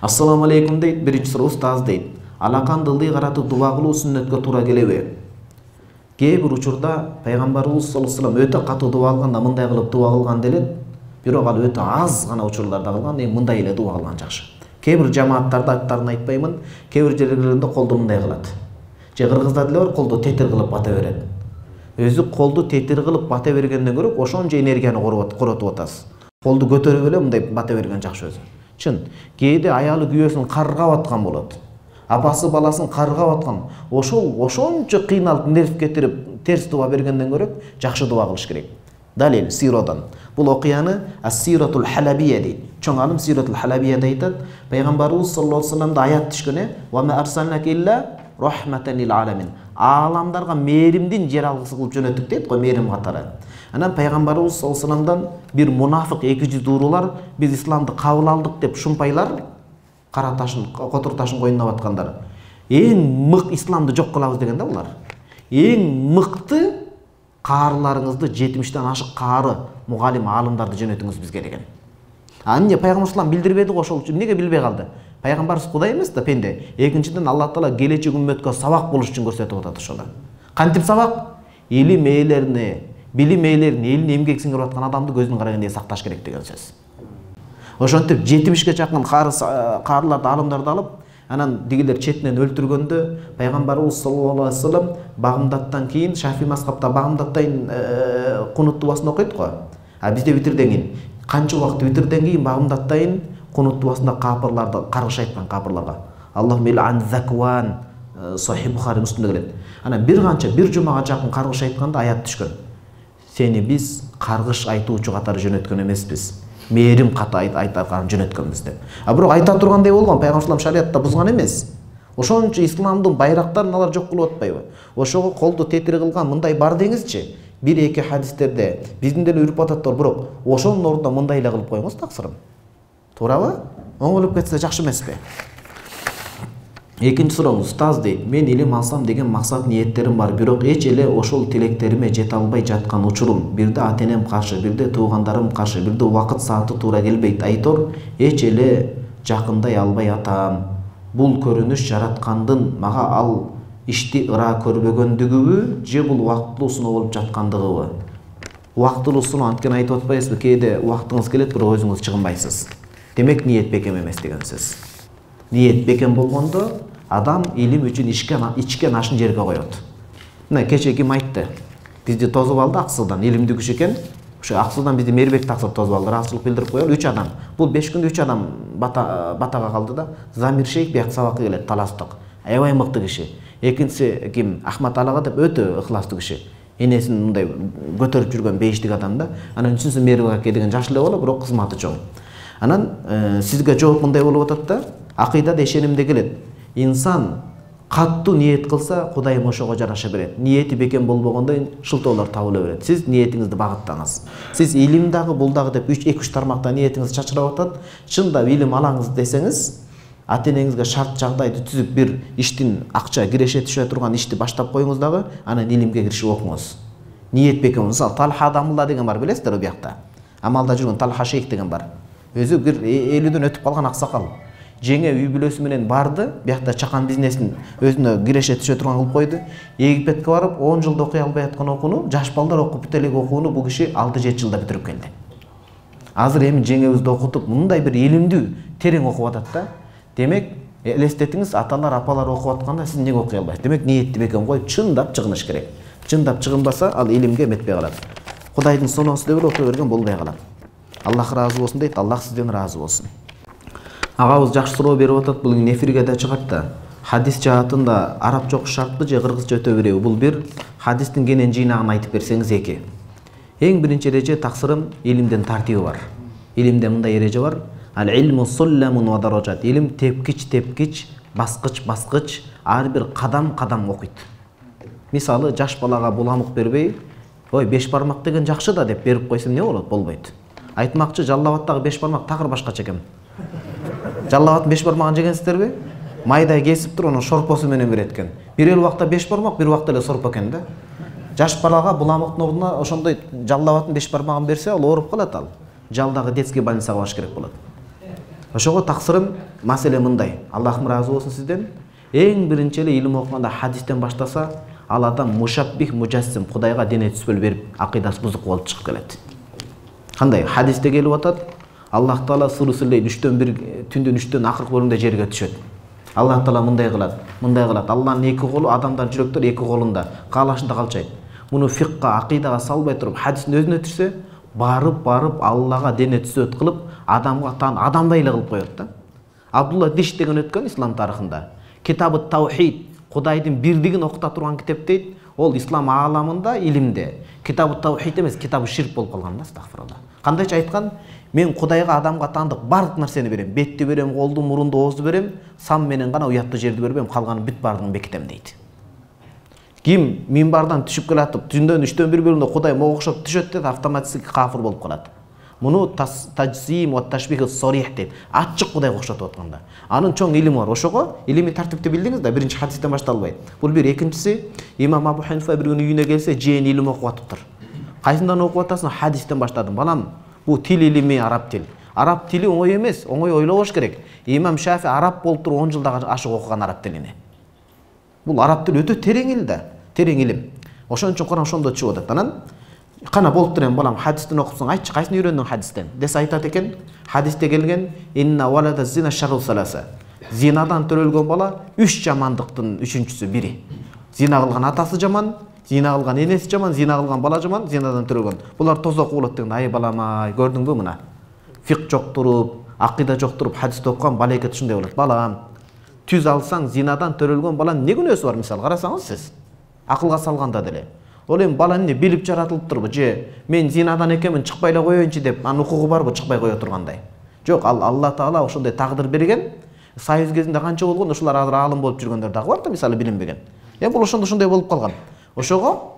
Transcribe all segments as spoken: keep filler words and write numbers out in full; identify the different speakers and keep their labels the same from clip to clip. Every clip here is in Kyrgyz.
Speaker 1: Ассаламу алейкум дейт, биринчи суроо устаз дейт. Алакан дылды каратып дуа кылуу сүннөткө туура келеби? Кээ бир учурда пайгамбарыбыз саллаллаху алейхи вассалам өтө катуу дуа кылганда мындай кылып дуа кылган делет, бирок ал өтө аз гана учурларда кылган, эми мындай эле дуа кылган жакшы. Кээ бир жамааттарда аттарын айтпаймын, кээ бир жерлеринде колду мындай кылат. Же кыргызда деле бар, колду тетир кылып бата берет. Өзү колду тетир кылып бата бергенден көрө ошончо энергияны коротуп атасыз. Колду көтөрүп эле мындай бата берген жакшы өзү. Чын, кээде аялы күйөөсүн каргап аткан болот. Апасы баласын каргап аткан. Ошол ошончо кыйналып, нерв кетирип, терс дуа бергенден көрө жакшы дуа кылыш керек. Далил сирадан. Бул окуяны Ас-Сиратул Халабия дейт. Чоң алым Сиратул Халабияда айтат, пайгамбарыбыз саллаллаху алейхи вассаламда аят түшкөн, "Ва ма арсалнака илля рахматан лил аламин." Ааламдарга мээримдин жаралгысы кылып жөнөттүк дейт го, мээрим катары. Анан пайгамбарыбыз саллаллаху алейхи вассаламдан бир мунафык эки жүз уурулар биз исламды кабыл алдык деп шумпайлар кара ташын, котур ташын койнуна баткандар. Эң мык исламды жок кылабыз деген да булар. Эң мыкты каарыларыңызды жетимиштен ашык каары мугалим аалымдарды жөнөтүңүз бизге деген. А эмне пайгамбар салам билдирбеди го, ошол үчүн эмнеге билбей калды? Пайгамбарыбыз Кудай эмес да, пенде. Экинчиден Аллах Таала келечек үммөткө сабак болуш үчүн көрсөтүп атат ошола. Кантип сабак? Илим ээлерине, билим ээлерине, элине эмгек сиңирип аткан адамды көздүн карагандай сакташ керек деген сөз. Ошентип жетимишке чакын каарыларды, аалымдарды алып, анан дигилер четинен өлтүргөндө пайгамбарыбыз саллаллаху алейхи вассалам Багымдаттан кийин Шафи мазхабта Багымдаттан кунут дуасын окуйт го. А бизде витрден кийин канча убакыт витрден кийин Багымдаттан кунут дуасында капырларды каргыш айткан капырларга. Аллахумма ан закван Сахих Бухари Муслимде келет. Анан бир канча бир жумага жакын каргыш айтканда аят түшкөн. Сени биз каргыш айтуучу катары жөнөткөн эмеспиз. Мээрим ката айтарган жөнөткөнбүз деп. А бирок айта тургандай болгон, пайгамбар шариатта бузган эмес. Ошончо исламдын байрактарын алар жок кылып атпайбы? Ошого колду тетир кылган мындай бар деңизчи. Бир эки хадистерде биздин деле үрүп ататтыр, бирок ошонун ордуна мындай эле кылып коюңуз таксырым. Туурабы? Оңолуп кетсе жакшы эмеспи? Экинчи сурооңуз, устаз дейт, мен илим алсам деген максат ниеттерим бар, бирок эч эле ошол тилектериме жете албай жаткан учурум, бирде ата-энем каршы, бирде туугандарым каршы, бирде убакыт сааты туура келбейт. Айтор, эч эле жакындай албай атам. Бул көрүнүш жараткандын мага ал ишти ыра көрбөгөндүгүбү, же бул убактылуу сыноо болуп жаткандыгыбы? Убактылуу сыноо анткени айтып атпайсызбы, кээде убактыңыз келет, бирок өзүңүз чыгынбайсыз. Демек ниет бекем эмес деген сөз. Ниет бекем болгондо адам илим үчүн ичкен ашын жерге коет. Мына кече ким айтты? Бизди тозуп алды Аксудан, илимдүү күч экен. Ошо Аксудан бизди Мээрбек таксып тозуп алды, ыраазычылык билдирип коелу үч адам. Бул беш күндө үч адам бата батага калды да. Замир шейх бияк сабакка келет, таластык. Аябай мыкты киши. Экинчиси ким? Ахмат Алага деп өтө ыхластуу киши. Энесин мындай көтөрүп жүргөн бейиштик адам да. Анан үчүнчүсү Мээрбек аке деген жаш эле боло, бирок кызматы чоң. Анан сизге жооп мындай болуп атат да. Акыйдада ишенимде келет. Инсан каттуу ниет кылса, Кудайым ошого жараша берет. Ниети бекем болбогондо шылтоолор табыла берет. Сиз ниетиңизди багыттаңыз. Сиз илим дагы, бул дагы деп үч эки үч тармакта ниетиңиз чачырап атат. Чындап илим алаңыз десеңиз, ата-энеңизге шарт жагдайды түзүп бир иштин акча киреше түшө турган ишти баштап коюңуз дагы, анан илимге киришип окуңуз. Ниет бекем. Мисалы Талха Адамулла деген бар, билесиздер биякта. Амалда жүргөн Талха шейх деген бар. Өзү бир элүүдөн өтүп калган аксакал. Жеңе үй бүлөсү менен барды, биякта чакан бизнесин өзүнө киреше түшө турган кылып койду. Египетке барып он жылда окуй албай аткан окууну, жаш балдар окуп бүтө элек окууну бул киши алты жети жылда бүтүрүп келди. Азыр эми жеңебизди окутуп, мындай бир илимдүү, терең окуп атат да. Демек, элестетиңиз, аталар, апалар окуп атканда сиз эмнеге окуй албайсыз? Демек, ниетти бекем коюп, чындап чыгыныш керек. Чындап чыгынбаса, ал илимге эметпей калат. Кудайдын суноосу деп эле окуй берген болбой калат. Аллах ыраазы болсун дейт, Аллах сизден ыраазы болсун. Агабыз жакшы суроо берип атат, бул эфирге да чыгат да. Хадис жаатында арабча окуш шарттуу же кыргызча өтө береби? Бул бир, хадистин кенен жыйнагын айтып берсеңиз эки. Эң биринчи эреже таксырым илимден тартиби бар. Илимде мындай эреже бар. Ал илму сулламун ва даражат. Илим тепкич-тепкич, баскыч-баскыч, ар бир кадам-кадам окуйт. Мисалы, жаш балага буламык бербей, ой, беш бармак деген жакшы да деп берип койсом эмне болот? Болбойт. Айтмакчы, Жаллабаттагы беш бармак такыр башкача экен. Жаллабаттын беш бармагын жегенсиздерби? Майдай кесип туруп, анын шорпосу менен берет экен. Бир эл убакта беш бармак, бир убакта эле сорпо экен да. Жаш балага буламыктын ордуна ошондой Жаллабаттын беш бармагын берсе, ал ооруп калат ал. Жалдагы детский больницага барыш керек болот. Ошого таксырым маселе мындай. Аллахым ыраазы болсун сизден. Эң биринчи эле илим окуганда хадистен баштаса, ал адам мушаббих мужассим, Кудайга дене түспөл берип, акыйдасы бузук болуп чыгып келет. Кандай? Хадисте келип атат, Аллах Таала сурусулей үчтөн бир түндүн үчтөн акыркы бөлүгүндө жерге түшөт. Аллах Таала мындай кылат, мындай кылат. Аллахнын эки колу, адамдардын жүрөктөрү эки колунда, каалашында калчайт. Муну фикка, акыйдага салбай туруп, хадистин өзүнө түшсө, барып барып Аллага дене түсөт кылып, адамга тан адамдай эле кылып коет да. Абдулла Диш деген өткөн ислам тарыхында. Китабы Таухид, Кудайдын бирдигин окута турган китеп дейт. Ол ислам ааламында, илимде. Китабы Таухид эмес, китабы ширк болуп калган да, астагфирулла. Кандайча айткан? Мен Кудайга адамга таандык бардык нерсени берем. Бетти берем, колду, мурунду, оозду берем, сам менен гана уятты жерди бербем, калганын бүт бардыгын бекитем дейт. Ким минбардан түшүп келатып, түндөн үчтөн бир бөлүгүндө Кудай мага окшоп түшөт деп автоматически кафир болуп калат. Муну таджсим ва ташбих сорих дейт. Ачык Кудайга окшотуп атканда. Анын чоң илими бар. Ошого илимий тартипти билдиңиз да, биринчи хадистен башталбайт. Бул бир, экинчиси, имам Абу Ханифа бир күнү үйүнө келсе, жээн илим окуп атыптыр. Кайсынан окуп атасың? Хадистен баштадым. Балам, бул тил илими араб тил. Араб тили оңой эмес, оңой ойлобош керек. Имам Шафи араб болуп туруп он жылда ашык окуган араб тилини. Бул араб тили өтө терең ил да, терең илим. Ошон үчүн Куран ошондо чыгып атат. Анан кана болуп турем балам, хадистен окусаң, айтчы, кайсын үйрөндүң хадистен? Десе айтат экен, хадисте келген инна валада зина шарру саласа. Зинадан төрөлгөн бала үч жамандыктын үчүнчүсү бири. Зина кылган атасы жаман, зина кылган энеси жаман, зина кылган бала жаман, зинадан төрөлгөн. Булар тозок болот деген. Ай балам, ай, көрдүңбү мына? Фик жок туруп, акыйда жок туруп хадисти окуган балекет ушундай болот. Балам, түз алсаң, зинадан төрөлгөн баланын не күнөөсү бар, мисалы карасаңыз сиз? Акылга салганда деле. Ол эми бала эмне билип жаратылыптырбы? Же мен зинадан экенмин, чыкпай эле коеюнчу деп, анын укугу барбы чыкпай кое тургандай? Жок, ал Алла Таала ошондой тагдыр берген. Союз кезинде канча болгон, ушулар азыр аалым болуп жүргөндөр дагы бар да, мисалы билинбеген. Эми бул ошондо ошондой болуп калган. Ошого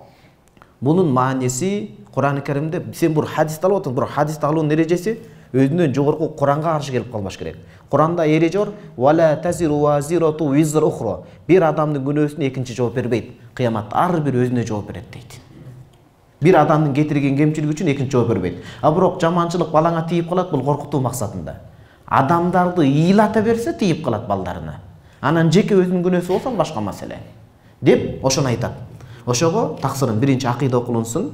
Speaker 1: мунун мааниси Куран-ы Каримде сен бир хадисти алып отуң, бирок хадисти алуунун эрежеси өзүнөн жогорку Куранга каршы келип калбаш керек. Куранда эреже бар: "Вала тазиру вазирату визр ухра". Бир адамдын күнөөсүнө экинчи жооп бербейт. Кыяматта ар бир өзүнө жооп берет дейт. Бир адамдын кетирген кемчилиги үчүн экинчи жооп бербейт. А бирок жаманчылык балаңа тийип калат, бул коркутуу максатында. Адамдарды ыйлата берсе тийип калат балдарына. Анан жеке өзүнүн күнөөсү болсо башка маселе. Деп ошону айтат. Ошого таксырын биринчи акыйда окулунсун.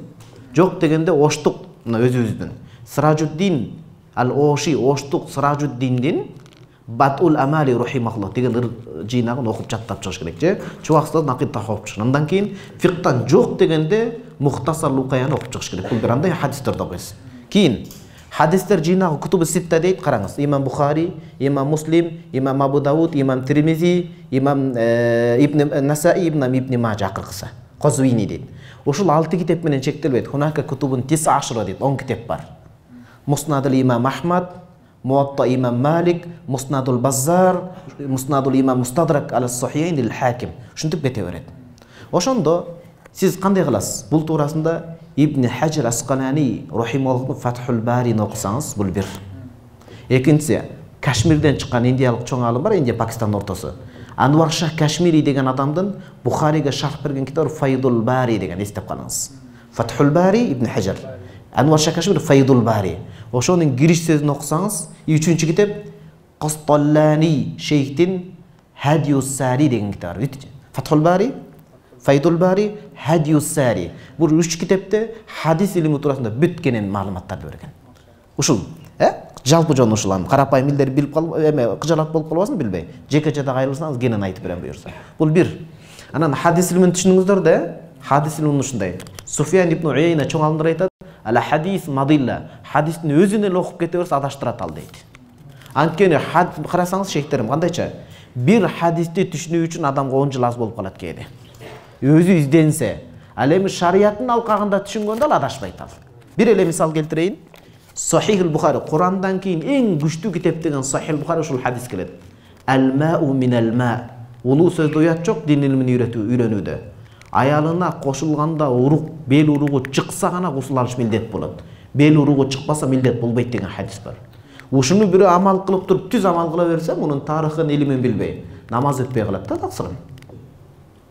Speaker 1: Жок дегенде оштук мына өзүбүздүн. Сиражуддин ал-Оши, оштук Сиражуддиндин Батул Амали рахимахуллах деген жыйнагын окуп жаттап чыгыш керек же. Чубаксыздан акыйда окуп чыгыш. Андан кийин фиктан жок дегенде Мухтасар Лукаяны окуп чыгыш керек. Бул бир андай хадистерди окуйсуз. Кийин хадистер жыйнагы Кутубу Ситта дейт, караңыз. Имам Бухари, Имам Муслим, Имам Абу Дауд, Имам Тирмизи, Имам Ибн Насаи, Ибн Ибн Мажа акыркысы. Козуини дейт. Ушул алты китеп менен чектелбейт. Хунака кутубун тиса ашра дейт, он китеп бар. Муснадул Имам Ахмад, Муатта Имам Малик, Муснадул Баззар, Муснадул Имам Мустадрак ал-Сахихайн ал-Хаким. Ушинтип кете берет. Ошондо сиз кандай кыласыз? Бул туурасында Ибн Хаджар Асқалани рахимахуллахтын Фатхул Барини окусаңыз, бул бир. Экинчиси, Кашмирден чыккан индиялык чоң алым бар, Индия Пакистандын ортосу. Анвар Шах Кашмири деген адамдын Бухарига шарх берген китабы Файдул Бари деген, эстеп калыңыз. Фатхул Бари Ибн Хаджар. Анвар Шах Кашмири Файдул Бари. Ошонун кириш сөзүн окусаңыз, үчүнчү китеп Касталлани шейхтин Хадиус Сари деген китап бар. Фатхул Бари, Файдул Бари, Хадиус Сари. Бул үч китепте хадис илими туурасында бүт кенен маалыматтарды берген. Ушул, э? Жалпы жон ушул ам карапайым илдер билип калып, эме кыжалат болуп калбасын билбей. Жеке-жеке кайрылсаңыз кенен айтып берем буюрса. Бул бир. Анан хадис илимин түшүнүңүздөр да, хадис илими ушундай. Суфиян ибн Уяйна чоң алымдар айтат: "Ала хадис мадилла". Хадистин өзүн эле окуп кете берсе адаштырат ал дейт. Анткени карасаңыз шейхтерим кандайча? Бир хадисти түшүнүү үчүн адамга он жыл аз болуп калат кээде. Өзү изденсе, ал эми шариаттын алкагында түшүнгөндө ал адашпайт ал. Бир эле мисал келтирейин. Сахих Бухари, Курандан кийин эң күчтүү китеп деген Сахих Бухари ушул хадис келет. Ал-мау минал-ма. Улуу сөздө уят жок, дин илимин үйрөтүү, үйрөнүүдө. Аялына кошулганда урук, бел уругу чыкса гана гусул алыш милдет болот. Бел уругу чыкпаса милдет болбойт деген хадис бар. Ушуну бирөө амал кылып туруп, түз амал кыла берсе, мунун тарыхын, илимин билбей, намаз өтпөй калат да, таксырын.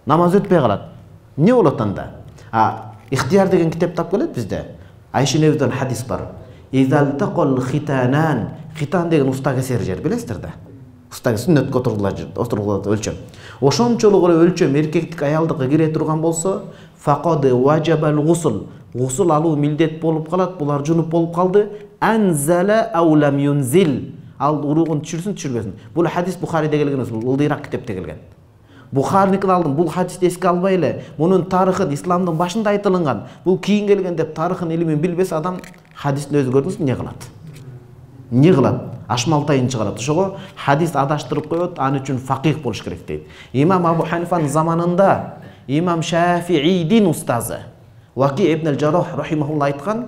Speaker 1: Намаз өтпөй калат. Не болот анда? А, Ихтияр деген китеп тап келет бизде. Айша энебизден хадис бар. Изал тaqal хитанан Хитан деген уста кесер жер, билесиздер да. Уста сүннөткө отургулат өлчөм. Ошончолук эле өлчөм эркектик аялдыкка кире турган болсо, фақад ваджабал гусл. Гусл алуу милдет болуп калат, булар жунуп болуп калды. Анзала ау лам юнзил. Ал уругун түшүрсүн, түшүрбөсүн. Бул хадис Бухариде келген эмес, бул ылдыйраак китепте келген. Бухариникин алдым, бул хадисти эске албай эле, мунун тарыхын исламдын башында айтылган. Бул кийин келген деп тарыхын илимин билбесе адам хадистин өзү көрдүңүзбү эмне кылат? Эмне кылат? Ашмалтайын чыгарат. Ошого хадис адаштырып коет, аны үчүн факих болуш керек дейт. Имам Абу Ханифанын заманында Имам Шафиидин устазы Ваки ибн аль-Жаррах рахимахулла айткан: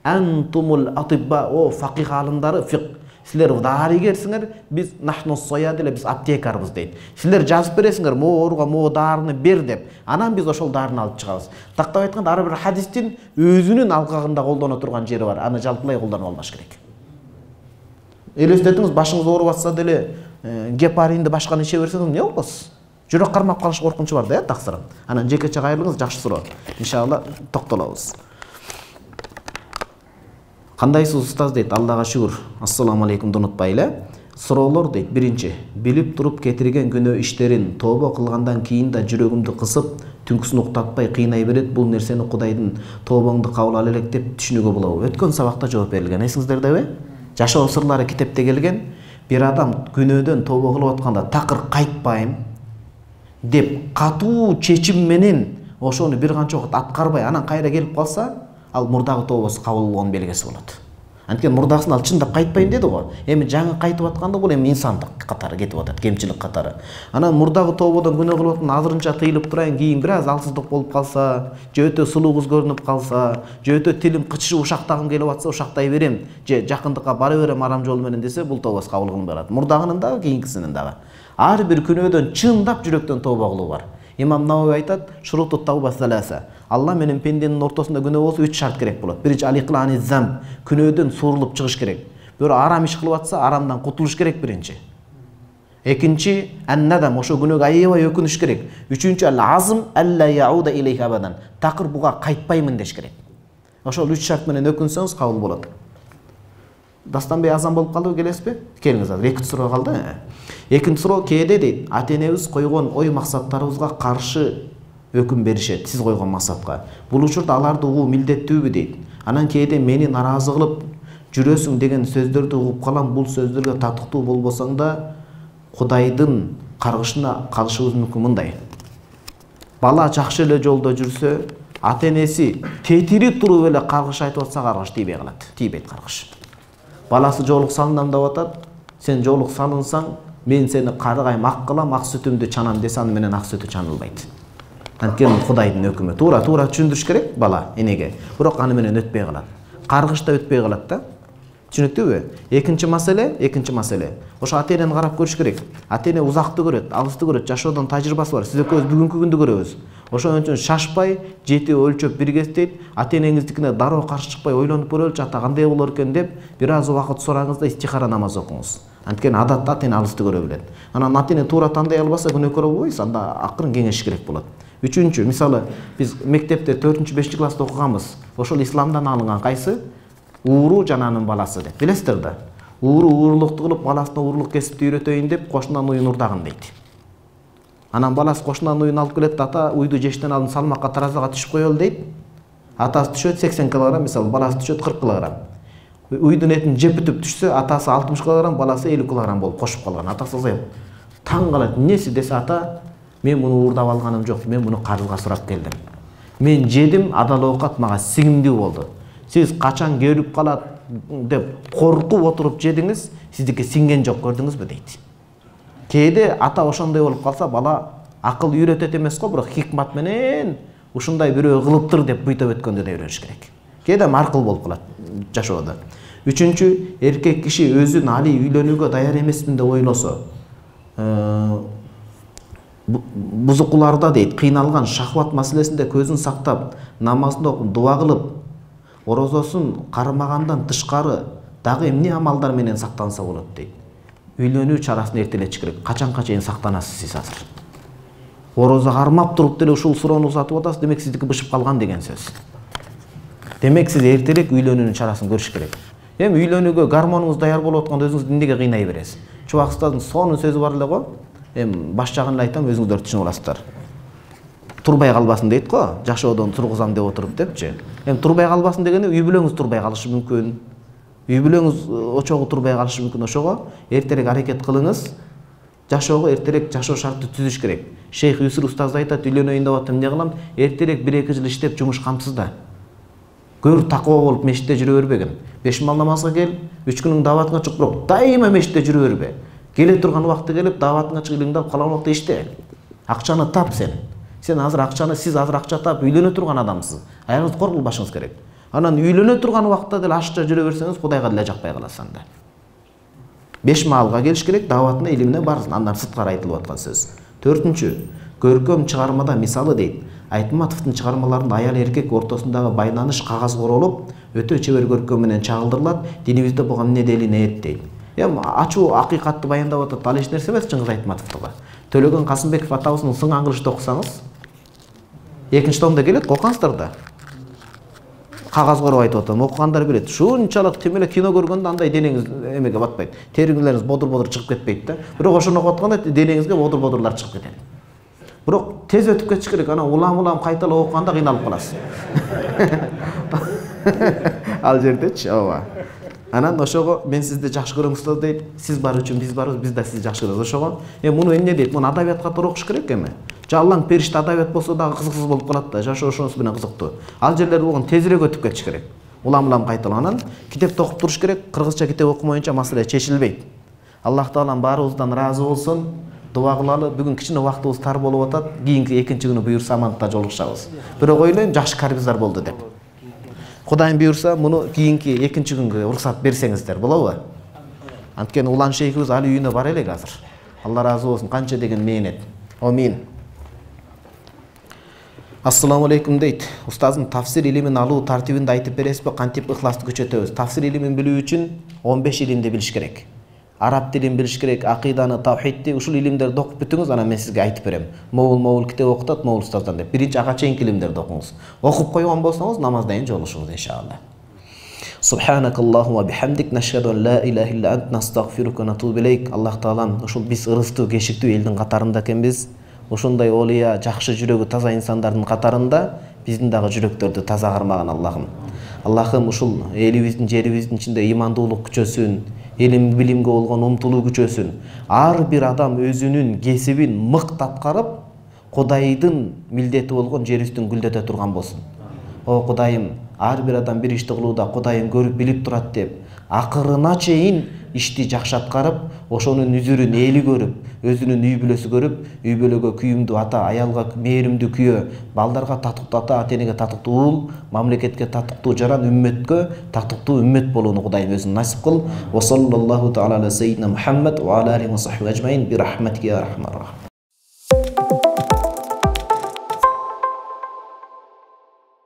Speaker 1: "Антумул атибба", о факих алымдары, фиқ. Силер дарыгерсиңер, биз нахну сояд эле, биз аптекарбыз дейт. Силер жазып бересиңер, могу ооруга могу дарыны бер деп. Анан биз ошол дарыны алып чыгабыз. Тактап айтканда ар бир хадистин өзүнүн алкагында колдоно турган жери бар. Аны жалпылай колдонуп алмаш керек. Элестетиңиз, башыңыз ооруп атса деле гепаринди башканы иче берсеңиз эмне болосуз? Жүрөк кармап калыш коркунучу бар да, э, таксырын. Анан жекече кайрылыңыз, жакшы суроо. Иншалла токтолобуз. Кандайсыз устаз дейт, Аллага шүгүр. Ассаламу алейкумду унутпай эле. Суроолор дейт. Биринчи, билип туруп кетирген күнөө иштерин тобо кылгандан кийин да жүрөгүмдү кысып, түнкүсүн уктатпай кыйнай берет. Бул нерсени Кудайдын тобоңду кабыл ала элек деп түшүнүүгө болобу? Өткөн сабакта жооп берилген. Эсиңиздердеби? Жашоо сырлары китепте келген. Бир адам күнөөдөн тобо кылып атканда такыр кайтпайм деп катуу чечим менен ошону бир канча убакыт аткарбай анан кайра келип калса, ал мурдагы тобосу кабыл болгон белгиси болот. Анткени мурдагысын ал чындап кайтпайм деди го. Эми жаңы кайтып атканда бул эми инсандык катары кетип атат, кемчилик катары. Анан мурдагы тободон күнөө кылып аткан азырынча тыйылып турайын, кийин бир аз алсыздык болуп калса, же өтө сулуу кыз көрүнүп калса, же өтө тилим кычышып ушактагым келип атса, ушактай берем, же жакындыкка бара берем арам жол менен десе, бул тобос кабыл кылынбай калат. Мурдагынын дагы, кийинкисинин дагы. Ар бир күнөөдөн чындап жүрөктөн тобо кылуу бар. Имам Навави айтат: "Шуруту тауба саласа". Алла менен пенденин ортосунда күнөө болсо үч шарт керек болот. Биринчи аликлани зам, күнөөдөн сурулуп чыгыш керек. Бирөө арам иш кылып атса, арамдан кутулуш керек биринчи. Экинчи аннадам, ошо күнөөгө аябай өкүнүш керек. Үчүнчү ал-азм алла яуда илейхи абадан. Такыр буга кайтпаймын деш керек. Ошол үч шарт менен өкүнсөңүз кабыл болот. Дастанбей азан болуп калдыбы, келесизби? Келиңиз азыр. Экинчи суроо калды. Экинчи суроо кээде дейт, ата-энебиз койгон ой максаттарыбызга каршы өкүм беришет, сиз койгон максатка. Бул учурда аларды угуу милдеттүүбү дейт. Анан кээде мени наразы кылып жүрөсүң деген сөздөрдү угуп калам. Бул сөздөргө татыктуу болбосоң да Кудайдын каргышына калышыбыз мүмкүн. Мындай: бала жакшы эле жолдо жүрсө, ата-энеси тетири туруп эле каргыш айтып атса, каргыш тийбей калат. Тийбейт каргыш. Баласы жоолук салынам деп атат. Сен жоолук салынсаң, мен сени карыгайм, ак кылам, ак сүтүмдү чанам десе, аны менен ак сүтү чанылбайт. Анткени Кудайдын өкүмү. Туура туура түшүндүрүш керек бала энеге. Бирок аны менен өтпөй калат. Каргыш да өтпөй калат да. Түшүнүктүүбү? Экинчи маселе, экинчи маселе. Ошо ата-энени карап көрүш керек. Ата-эне узакты көрөт, алысты көрөт, жашоодон тажрыйбасы бар. Сиз экөөбүз бүгүнкү күндү көрөбүз. Ошон үчүн шашпай, жети өлчөп биргестейт, ата-энеңиздикине дароо каршы чыкпай ойлонуп көрөлүчү, ата кандай болор экен деп, бир аз убакыт сураңыз да истихара намаз окуңуз. Анткени адатта ата-эне алысты көрө билет. Анан ата-эне туура тандай албаса күнөөкөр болбойсуз, анда акырын кеңешиш керек болот. Үчүнчү, мисалы, биз мектепте төртүнчү бешинчи класста окуганбыз. Ошол исламдан алынган кайсы? Ууру жананын баласы деп. Билесиздер да? Ууру уурулукту кылып, баласына уурлук кесипти үйрөтөйүн деп кошунан уйун урдагын дейт. Анан баласы кошунан уйун алып келет, ата уйду жештен алдын салмакка таразага түшүп коелу дейт. Атасы түшөт сексен килограмм, мисалы, баласы түшөт кырк килограмм. Уйдун этин жеп бүтүп түшсө, атасы алтымыш килограмм, баласы элүү килограмм болуп кошуп калган. Атасы ызайып таң калат. Эмнеси десе, ата, мен муну уурдап алганым жок, мен муну карызга сурап келдим. Мен жедим, адал оокат мага сиңимдүү болду. Сиз качан келип калат деп коркуп отуруп жедиңиз, сиздикке сиңген жок, көрдүңүзбү дейт. Кээде ата ошондой болуп калса, бала акыл үйрөтөт эмес го, бирок хикмат менен ушундай бирөө кылыптыр деп буйтап өткөндө да үйрөнүш керек. Кээде маркыл болуп калат жашоодо. Үчүнчү, эркек киши өзүн али үйлөнүүгө даяр эмесмин деп ойлосо, бузукуларда дейт, кыйналган шахват маселесинде көзүн сактап, намазын окуп, дуа кылып, орозосун кармагандан тышкары дагы эмне амалдар менен сактанса болот дейт. Үйлөнүү чарасын эртелетиш керек. Качанга чейин сактанасыз сиз азыр? Орозо кармап туруп деле ушул суроону узатып атасыз, демек сиздики бышып калган деген сөз. Демек сиз эртерээк үйлөнүүнүн чарасын көрүш керек. Эми үйлөнүүгө гормонуңуз даяр болуп атканда өзүңүздү эмнеге кыйнай бересиз? Чубак устаздын сонун сөзү бар эле го. Эми баш жагын эле айтам, өзүңүздөр түшүнүп аласыздар. Турбай калбасын дейт го, жашоодон тургузам деп отуруп депчи. Эми турбай калбасын дегени үй бүлөңүз турбай калышы мүмкүн. Үй бүлөңүз очогу турбай калышы мүмкүн. Ошого эртерээк аракет кылыңыз. Жашоого эртерээк жашоо шартты түзүш керек. Шейх Юсур устаз айтат, үйлөнөйүн деп атам, эмне кылам? Эртерээк бир эки жыл иштеп жумуш камсыз да. Көр такоо болуп мешитте жүрө бербегин. Беш мал намазга кел, үч күнүң даватыңа чык, бирок дайыма мешитте жүрө бербе. Келе турган убакты келип, даватыңа чыгып илиңди алып калаган убакта иште. Акчаны тап сен. Сен азыр акчаны, сиз азыр акча тап үйлөнө турган адамсыз. Аягыңызды кор кылбашыңыз керек. Анан үйлөнө турган убакта деле ашча жүрө берсеңиз, Кудайга деле жакпай каласыз анда. Беш маалга келиш керек, даватына, илимине барсын. Андан сырткары айтылып аткан сөз. Төртүнчү, көркөм чыгармада мисалы дейт. Айтматовдун чыгармаларында аял эркек ортосундагы байланыш кагаз королуп, өтө чебер көркөм менен чагылдырылат. Динибизде буга эмне делил нет дейт. Эми ачуу акыйкатты баяндап атат, ал эч нерсе эмес Чыңгыз Айтматовдуга. Төлөгөн Касымбеков атабыздын Сың аңгырышты окусаңыз, экинчи томдо келет, окуңуздар да. Кагаз короп айтып атам, окугандар билет. Шунчалык тим эле кино көргөндө андай денеңиз эмеге батпайт. Териңиңериз бодур-бодур чыгып кетпейт да. Бирок ошону окуп атканда денеңизге бодур-бодурлар чыгып кетет. Бирок тез өтүп кетиш керек. Анан улам-улам кайталап окуганда кыйналып каласыз. Ал жердечи, ооба. Анан ошого мен сизди жакшы көрөм устаз дейт. Сиз бар үчүн биз барбыз, биз да сизди жакшы көрөбүз. Ошого эми муну эмне дейт? Муну адабият катары окуш керек эми. Жаллаң периште адабият болсо дагы кызыксыз болуп калат да. Жашоо ошонусу менен кызыктуу. Ал жерлер болгон тезирээк өтүп кетиш керек. Улам-улам кайталанан китепти окуп туруш керек. Кыргызча китеп окумайынча маселе чечилбейт. Аллах таалам баарыбыздан ыраазы болсун. Дуа кылалы. Бүгүн кичине убактыбыз тар болуп атат. Кийинки экинчи күнү буюрса амандыкта жолугушабыз. Бирок ойлойм, жакшы карбиздар болду деп. Кудайым буюрса, муну кийинки экинчи күнгө уруксат берсеңиздер болобу? Анткени улан шейхибиз али үйүнө бар элек азыр. Алла ыраазы болсун, канча деген мээнет. Амин. Ассаламу алейкум дейт. Устаздын тафсир илимин алуу тартибинди айтып бересизби? Кантип ыхласты күчөтөбүз? Тафсир илимин билүү үчүн он беш илимди билиш керек. Араб тилин билиш керек, акыйданы, тавхидти, ушул илимдерди окуп бүтүңүз, анан мен сизге айтып берем. Моул-моул китеп окутат, моул устаздан деп. Биринчи ага чейинки илимдерди окуңуз. Окуп койгон болсоңуз, намаздайын жолугушуңуз иншалла. Субханакаллахумма бихамдик, нашхаду ан ла илаха илля ант, настагфирука ва натубу илейк. Аллах таалам, ушул биз ырыстуу, кешиктүү элдин катарында экенбиз. Ошондой олия, жакшы жүрөгү таза инсандардын катарында биздин дагы жүрөктөрдү таза кармаган Аллахым. Аллахым ушул элибиздин, жерибиздин ичинде имандуулук күчөсүн, илим билимге болгон умтулуу күчөсүн. Ар бир адам өзүнүн кесибин мыкты аткарып, Кудайдын милдети болгон жер үстүн гүлдөтө турган болсун. О Кудайым, ар бир адам бир ишти кылууда Кудайым көрүп билип турат деп, акырына чейин ишти жакшы аткарып, ошонун үзүрүн эли көрүп, өзүнүн үй бүлөсү көрүп, үй бүлөгө күйүмдүү ата, аялга мээримдүү күйөө, балдарга татыктуу ата, атенеге татыктуу уул, мамлекетке татыктуу жаран, үммөткө татыктуу үммөт болууну Кудайым өзүң насип кыл. Ва саллаллаху таала ала саййидина Мухаммад ва ала алихи ва сахбиhi ажмаин би рахматика я архамар рахим.